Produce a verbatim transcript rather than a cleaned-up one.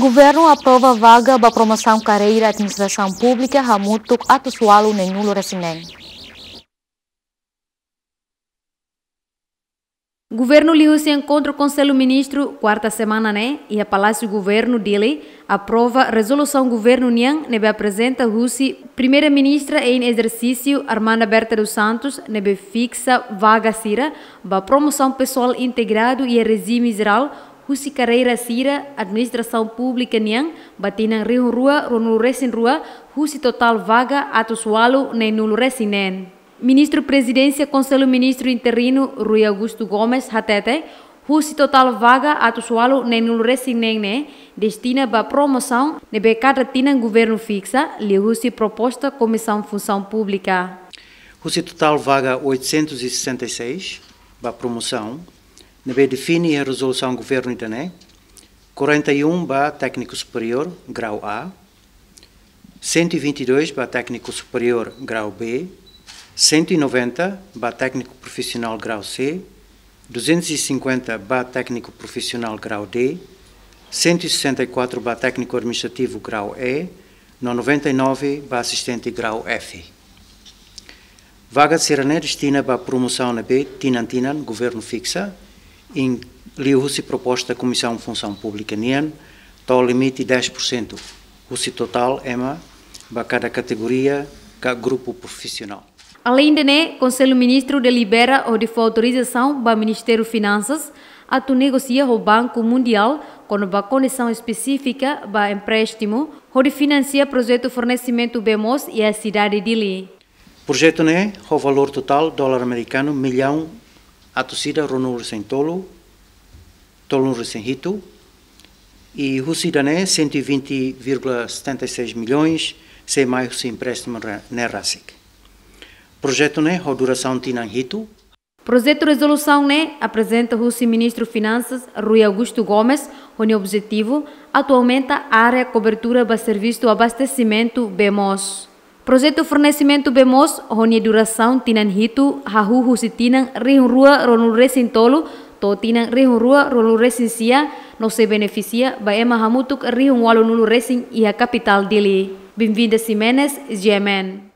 Governu aprova vaga ba promosaun karreira administrasaun públika hamutuk atus ualu neen-nulu resin neen. Governu liuhusi enkontru Konsellu Ministru kuarta semana ne'e iha Palásiu Governu Dili aprova rezolusaun governu nian ne'ebé aprezenta husi Primeira-Ministra em exercício Armanda Berta dos Santos ne'ebé fiksa vaga sira ba promosaun pesoál integradu iha rejime jerál husi karreira sira administrasaun públika nian ba tinan rihun rua ruanulu resin rua husi totál vaga atus ualu neen-nulu resin neen. Ministru Prezidénsia Konsellu Ministru interinu Rui Augusto Gomes hatete, husi totál vaga atus ualu neen-nulu resin neen ne'e destina ba promosaun ne'ebé kada tinan governu fiksa, liuhusi proposta Komisaun Funsaun Públika. Husi totál vaga oitocentos e sessenta e seis ba promosaun ne'ebé define iha rezolusaun governu ida-ne'e, quarenta e um ba tékniku superiór grau A, cento e vinte e dois ba tékniku superiór grau B, cento e noventa ba tékniku profisionál grau C, duzentos e cinquenta ba tékniku profisionál grau D, cento e sessenta e quatro ba tékniku administrativu grau E, no noventa e nove ba asistente grau F. Vaga sira-ne'e destina ba promosaun ne'ebé tinan-tinan governu fiksa, liuhusi proposta Komisaun Funsaun Públika nian, to'o limite dez por cento husi totál ema ba kada kategoria ka grupu profisionál. Aleinde ne'e, Konsellu Ministru delibera hodi fó autorizasaun ba Ministériu Finansas atu negosia ho Banku Mundiál kona-ba kondisaun espesífika ba empréstimu hodi finansia projetu fornesimentu bee moos iha sidade Dili. Projetu ne'e ho valór totál dolar amerikanu millaun atus ida ruanulu resin tolu, tolunulu resin hitu, i husi ida-ne'e cento e vinte vírgula setenta e seis milhões sei mai husi empréstimu ne'e rasik. Projetu ne'e ho durasaun tinan hitu. Projetu rezolusaun ne'e aprezenta husi Ministru Finansas Rui Augusto Gomes ho nia objetivu atu aumenta área kobertura ba servisu abastesimentu bee moos. Projetu fornesimentu bee moos ho nia durasaun tinan hitu hahú husi tinan rihun rua ruanulu resin tolu to'o tinan rihun rua ruanulu resin sia no sei benefisia ba ema hamutuk rihun ualunulu resin iha kapitál Dili. Benvinda Ximenes, G M N.